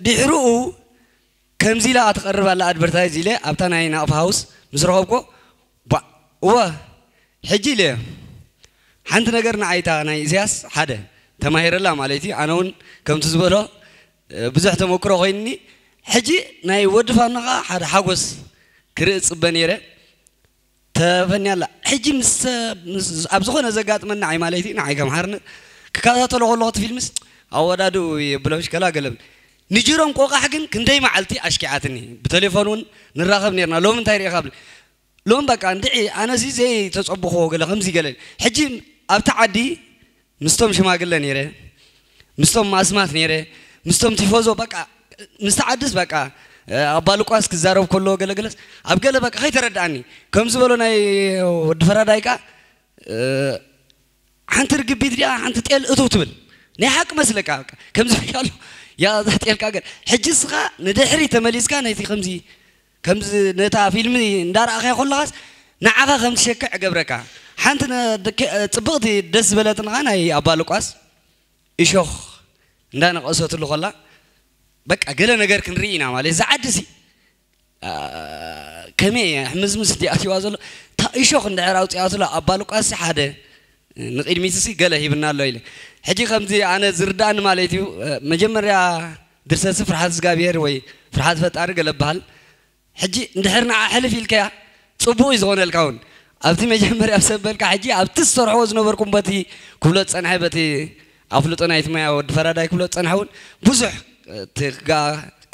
ድሕርኡ ከምዚ ኢላ ትቐርብ ኣላ ኣድቨርታይዝ ኢለ ኣብታ ናይ ናቕፋ ሃውስ ምስ ረኸብኮ ባዕ እወ ሕጂ ኢለ ሓንቲ ነገር ንዓይታ ናይ ኢሳያስ ሓደ ተማሂረላ ማለት እዩ። ኣነ እውን ከምቲ ዝበሎ ብዙሕ ተመክሮ ኮይንኒ። ሕጂ ናይ ወዲ ፋኖ ከዓ ሓደ ሓጎስ ክርኢ ዝፅበ ነይረ። ተፈንያ ኣላ። ሕጂ ምስ ምስ- ኣብ ዝኾነ ዘጋጥመኒ ንዓይ ማለት እዩ ንዓይ ከም ሓርነት ክከታተሎ ከለኹ እቲ ፊልምስ ኣወዳድኡ የብሎሽ ከላ ገለም ንጅሮም ቆቃሕ ግን ክንደይ መዓልቲ ኣሽኪዓትኒ። ብቴሌፎን እውን ንራኸብ ነርና። ሎሚ እንታይ ርኢኻ ብል ሎም በቃ እንድዒ ኣነሲ ዘይተጸብኽዎ ገለ ከምዚ ገለ ሕጂ ኣብቲ ዓዲ ምስቶም ሽማግለ ነይረ ምስቶም ማስማት ነይረ ምስቶም ቲፎዞ በቃ ምስቲ ዓድስ በቃ ኣባ ሉቃስ ክዛረብ ከሎ ገለገለስ ኣብ ገለ በቃ ከይተረዳኣኒ ከም ዝበሎ ናይ ወዲ ፈራዳይ ቃ ሓንቲ ርግቢት ዲኣ ሓንቲ ጤል እትው ትብል ናይ ሓቂ መስለካ በቃ ከምዚ ኣሎ ያ ጤልካ ገለ ሕጂ ስኻ ንድሕሪ ተመሊስካ ነቲ ከምዚ ከምዚ ነታ ፊልም እንዳረኣኻያ ከለኻስ ንዓኻ ከም ትሸክዕ እገብረካ። ሓንቲ ጽብቕቲ ደስ ዝበለትንኻ ናይ ኣባ ሉቃስ እሾኽ እንዳነቐሰትሉ ከላ በቃ ገለ ነገር ክንርኢ ኢና ማለት እዛ ዓዲ ሲ ከመይ እየ ሕምዝምዝ እንዲ ኣትዋ ዘሎ? እታ እሾኽ እንድሕር ኣውፅኣትሎ ኣባ ሉቃስ ሓደ ንቕድሚትሲ ገለ ሂብና ኣሎ ኢለ። ሕጂ ከምዚ ኣነ ዝርዳእኒ ማለት እዩ። መጀመርያ ድርሰሲ ፍርሃት እግዚኣብሔር ወይ ፍርሃት ፈጣሪ ገለ በሃል። ሕጂ እንድሕር ንዓ ሕልፍ ኢልከያ ፅቡቅ እዩ ዝኾነልካ እውን። ኣብቲ መጀመርያ ሰበልካ ሕጂ ኣብቲ ዝሰርሕዎ ዝነበርኩም በቲ ክብሎ ዝፀንሐ በቲ ኣፍልጦ ናይቲ ሞያ ወዲ ፈራዳይ ክብሎ ዝፀንሐ እውን ብዙሕ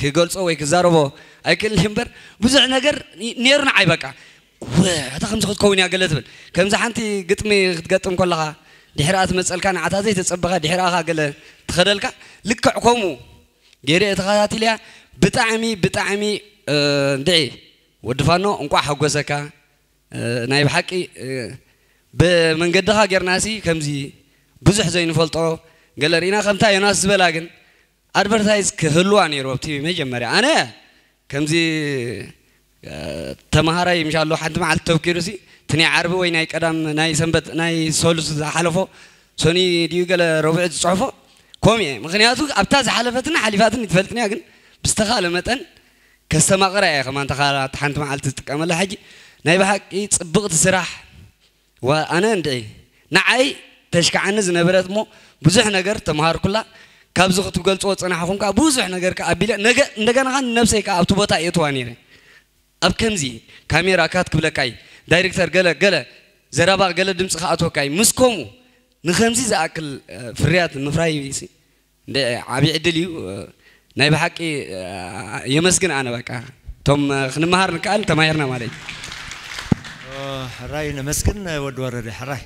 ክገልፆ ወይ ክዛረቦ ኣይክእል እምበር ብዙሕ ነገር ነይሩ ንዓይ በቃ። ወ እታ ከምዚ ክትከውን እያ ገለ ትብል። ከምዚ ሓንቲ ግጥሚ ክትገጥም ከለኻ ድሕሪኣ ትመፀልካ ንዓታ ዘይተፀበኻ ድሕሪኣኻ ገለ ትኸደልካ። ልክዕ ከምኡ ገይረ ተኸታቲልያ። ብጣዕሚ ብጣዕሚ እንድዒ ወዲ ፋኖ እንቋዕ ሓጎሰካ። ናይ ብሓቂ ብመንገድኻ ጌርናሲ ከምዚ ብዙሕ ዘይንፈልጦ ገለ ርኢና። ከምታ ዮናስ ዝበላ ግን ኣድቨርታይዝ ክህልዋ ነይሩ ኣብቲ መጀመርያ። ኣነ ከምዚ ተምሃራይ ምሻሎ ሓንቲ መዓልቲ ተብኪሩሲ እቲ ናይ ዓርቢ ወይ ናይ ቀዳም ናይ ሰንበት ናይ ሰሉስ ዝሓለፎ ሶኒ ድዩ ገለ ረቡዕ ዝፅሕፎ ከምኡ እየ። ምክንያቱ ኣብታ ዝሓለፈትና ሓሊፋትን ይትፈልጥንያ ግን ብዝተኻለ መጠን ከስተማቕራ እየ ከማን ተኻላት ሓንቲ መዓልቲ ዝጥቀመላ። ሕጂ ናይ ብሓቂ ፅብቕቲ ስራሕ። ዋ ኣነ እንድዒ ንዓይ ተሽክዓኒ ዝነበረት እሞ ብዙሕ ነገር ተምሃርኩላ። ካብዚ ክትገልፅዎ ዝፀናሕኹም ከዓ ብዙሕ ነገር ከዓ ኣቢለ ነገ እንደገና ከዓ ንነብሰይ ከዓ ኣብቲ ቦታ የእትዋ ነይረ። ኣብ ከምዚ ካሜራ ካት ክብለካ እዩ ዳይሬክተር ገለ ገለ ዘረባ ገለ ድምፂ ክኣትወካ እዩ ምስ ከምኡ ንከምዚ ዝኣክል ፍርያት ምፍራይ ዓብዪ ዕድል እዩ። ናይ ብሓቂ የመስግን ኣነ በቃ እቶም ክንመሃር ንከኣል ተማሂርና ማለት እዩ። ሕራይ ነመስግን ወዲ ወረደ ሕራይ።